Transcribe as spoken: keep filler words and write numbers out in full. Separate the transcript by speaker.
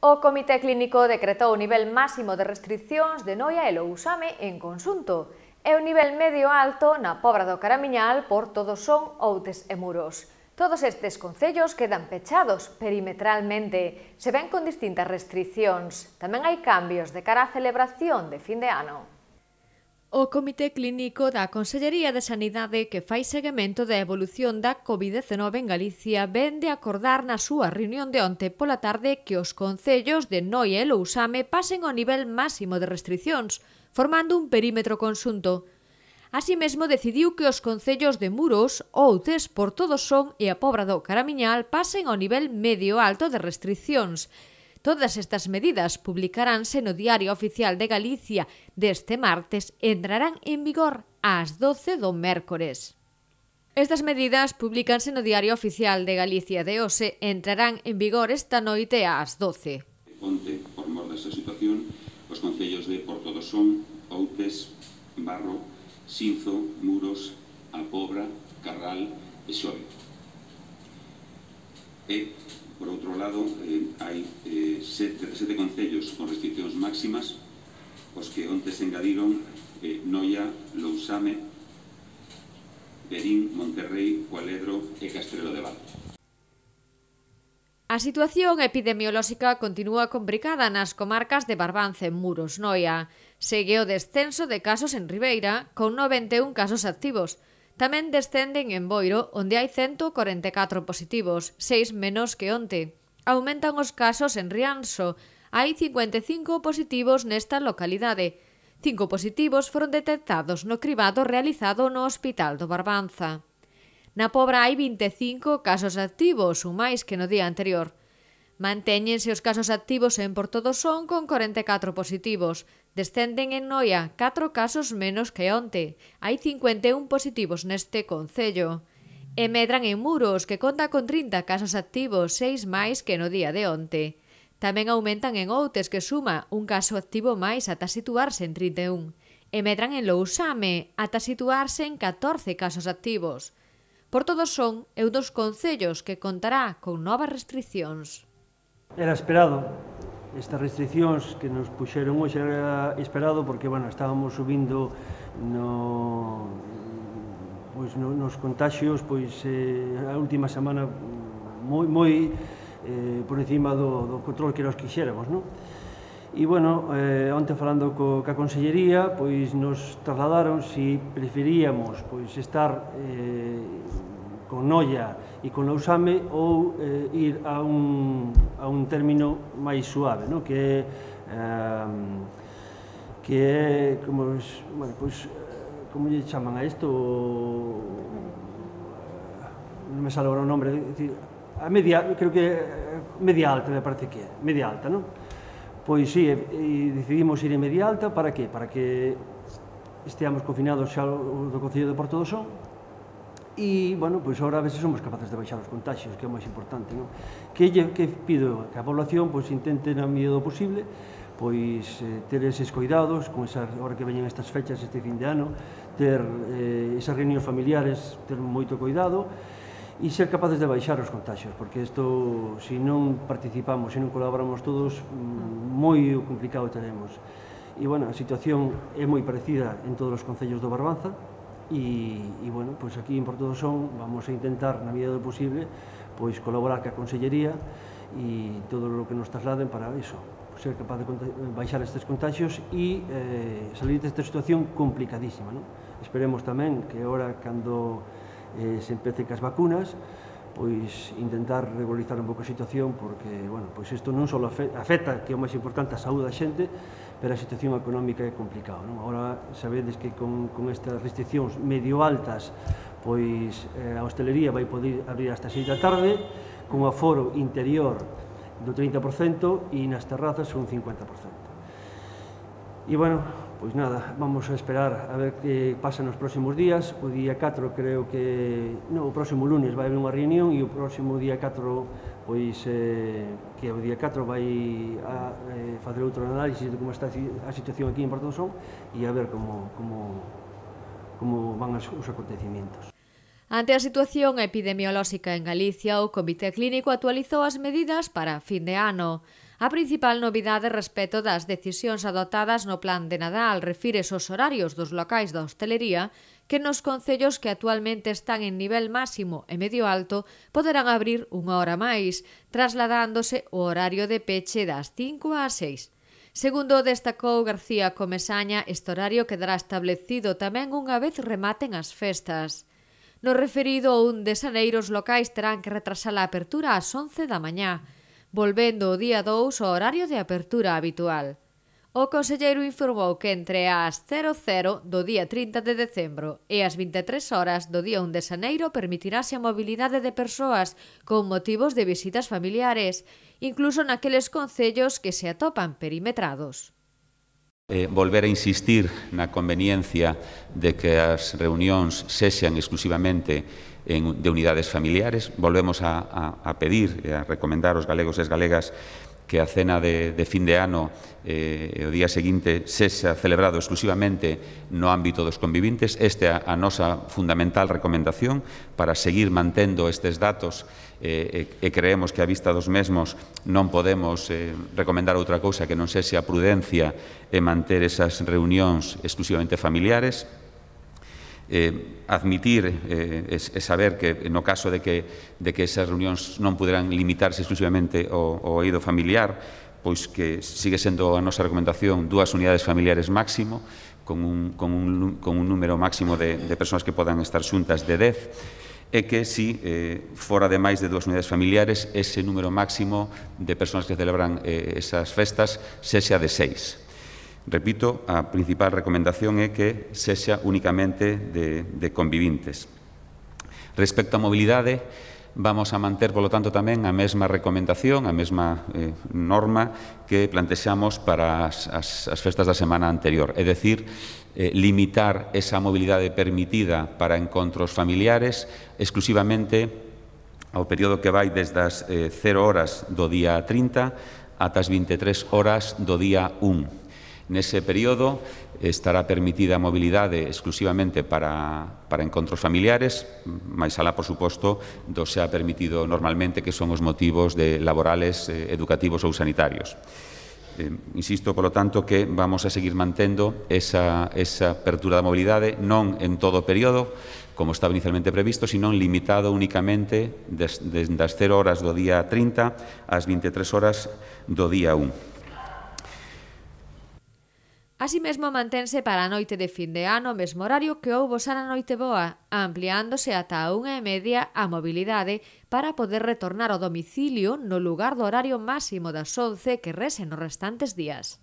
Speaker 1: O Comité Clínico decretou o nivel máximo de restriccións de Noia e Lousame en conxunto e o nivel medio alto na Pobra do Caramiñal por Todos son, Outes e Muros. Todos estes concellos quedan pechados perimetralmente, se ven con distintas restriccións. Tamén hai cambios de cara á celebración de fin de ano. O Comité Clínico da Consellería de Sanidade, que fai seguimento da evolución da covid dezenove en Galicia, ven de acordar na súa reunión de onte pola tarde que os concellos de Noia e Lousame pasen ao nivel máximo de restriccións, formando un perímetro conxunto. Así mesmo decidiu que os concellos de Muros, Outes, por Todos son e a Pobra do Caramiñal pasen ao nivel medio alto de restriccións. Todas estas medidas publicaránse no Diario Oficial de Galicia deste martes e entrarán en vigor ás doce do mércores. Estas medidas publicanse no Diario Oficial de Galicia de hoxe e entrarán en vigor esta noite ás doce.
Speaker 2: Onte, por mor desa situación, os concellos de Portodosón, Outes, Barro, Sinzo, Muros, A Pobra, Carral e Xove. E, por outro lado, eh, hai eh, sete, sete concellos con restriccións máximas, os que onte se engadiron eh, Noia, Lousame, Verín, Monterrei, Cualedro e Castrelo de Val.
Speaker 1: A situación epidemiolóxica continúa complicada nas comarcas de Barbanza e Muros, Noia. Segue o descenso de casos en Ribeira, con noventa e un casos activos. Tamén descenden en Boiro, onde hai cento corenta e catro positivos, seis menos que onte. Aumentan os casos en Rianxo, hai cincuenta e cinco positivos nesta localidade. Cinco positivos foron detectados no cribado realizado no Hospital do Barbanza. Na Pobra hai vinte e cinco casos activos, un máis que no día anterior. Mantéñense os casos activos en Portodosón con corenta e catro positivos. Descenden en Noia catro casos menos que onte. Hai cincuenta e un positivos neste concello. E medran en Muros, que conta con trinta casos activos, seis máis que no día de onte. Tamén aumentan en Outes, que suma un caso activo máis ata situarse en trinta e un. E medran en Lousame, ata situarse en catorce casos activos. Por Todos son é un dos concellos que contará con novas restriccións.
Speaker 3: Era esperado, estas restriccións que nos puxeron hoxe era esperado porque, bueno, estábamos subindo no, pois, no, nos contaxios, pois, eh, a última semana moi, moi eh, por encima do, do control que nos quixéramos, non? E, bueno, eh, onte falando co, ca Consellería, pois nos trasladaron si preferíamos pois, estar eh, con Noia e con Lousame ou eh, ir a un, a un término máis suave, no? que, eh, que é, como, bueno, pues, como lle chaman a isto, non me sale agora o nombre, decir, a media, creo que media alta, me parece que é, media alta, non? Pois sí, e decidimos ir en media alta, para que? Para que esteamos confinados xa do Concello de Portodosón. E, bueno, pois agora a veces somos capaces de baixar os contaxios, que é o máis importante, non? Que, que pido que a población pois, intente, na medida do posible, pois eh, ter eses cuidados, con esa, hora que veñen estas fechas, este fin de ano, ter eh, esas reunións familiares, ter moito cuidado, e ser capaces de baixar os contaxios, porque isto, se non participamos, se non colaboramos todos, moi complicado teremos. E, bueno, a situación é moi parecida en todos os concellos do Barbanza, e, e bueno, pois aquí en Portodosón vamos a intentar, na medida do posible, pois colaborar ca Consellería e todo o que nos trasladen para iso, ser capaz de baixar estes contagios e eh, salir desta situación complicadísima, non? Esperemos tamén que agora, cando eh, se empece cas vacunas, pois intentar regularizar un pouco a situación, porque, bueno, pois isto non só afecta, que é o máis importante, a saúde da xente, pero a situación económica é complicada, non? Agora, sabedes que con, con estas restriccións medio altas, pois eh, a hostelería vai poder abrir hasta seis da tarde, con aforo interior do trinta por cento e nas terrazas un cincuenta por cento. E, bueno, pois nada, vamos a esperar a ver que pasa nos próximos días. O día catro creo que... non, o próximo lunes vai haber unha reunión e o próximo día catro, pois, eh, que o día catro vai a eh, facer outro análisis de como está a situación aquí en Portodosón e a ver como, como, como van os acontecimientos.
Speaker 1: Ante a situación epidemiolóxica en Galicia, o Comité Clínico actualizou as medidas para fin de ano. A principal novidade respecto das decisións adoptadas no Plan de Nadal refires aos horarios dos locais da hostelería que nos concellos que actualmente están en nivel máximo e medio alto poderán abrir unha hora máis, trasladándose o horario de peche das cinco ás seis. Segundo destacou García Comesaña, este horario quedará establecido tamén unha vez rematen as festas. No referido ao un de xaneiro, os locais terán que retrasar a apertura ás once da mañá, volvendo o día dous ao horario de apertura habitual. O conselleiro informou que entre as cero cero do día trinta de decembro e as vinte e tres horas do día un de xaneiro permitirase a mobilidade de persoas con motivos de visitas familiares, incluso naqueles concellos que se atopan perimetrados.
Speaker 2: Eh, volver a insistir na conveniencia de que as reunións sexan exclusivamente en, de unidades familiares. Volvemos a, a, a pedir e a recomendar aos galegos e as galegas que a cena de, de fin de ano eh, o día seguinte sexa celebrado exclusivamente no ámbito dos convivintes. Esta é a nosa fundamental recomendación para seguir mantendo estes datos eh, e, e creemos que a vista dos mesmos non podemos eh, recomendar outra cousa que non sexa a prudencia e manter esas reunións exclusivamente familiares. Eh, admitir eh, e saber que no caso de que, de que esas reunións non poderán limitarse exclusivamente ao, ao eido familiar, pois que sigue sendo a nosa recomendación dúas unidades familiares máximo, con un, con un, con un número máximo de, de persoas que podan estar xuntas de dez, e que si eh, fora de máis de dúas unidades familiares, ese número máximo de persoas que celebran eh, esas festas sexa de seis. Repito, a principal recomendación é que sexa únicamente de, de convivintes. Respecto á mobilidade, vamos a manter, polo tanto, tamén a mesma recomendación, a mesma eh, norma que plantexamos para as, as, as festas da semana anterior, é dicir, eh, limitar esa mobilidade permitida para encontros familiares exclusivamente ao período que vai desde as eh, cero horas do día trinta ata as vinte e tres horas do día un. Nese período estará permitida a mobilidade exclusivamente para, para encontros familiares, máis alá, por suposto, do xa permitido normalmente, que son os motivos de laborales, eh, educativos ou sanitarios. Eh, insisto, polo tanto, que vamos a seguir mantendo esa, esa apertura da mobilidade, non en todo o período, como estaba inicialmente previsto, sino limitado únicamente desde des, das cero horas do día trinta ás vinte e tres horas do día un.
Speaker 1: Así mesmo mantense para a noite de fin de ano o mesmo horario que houbo xa na Noiteboa, ampliándose ata a unha e media a mobilidade para poder retornar ao domicilio no lugar do horario máximo das once que rese nos restantes días.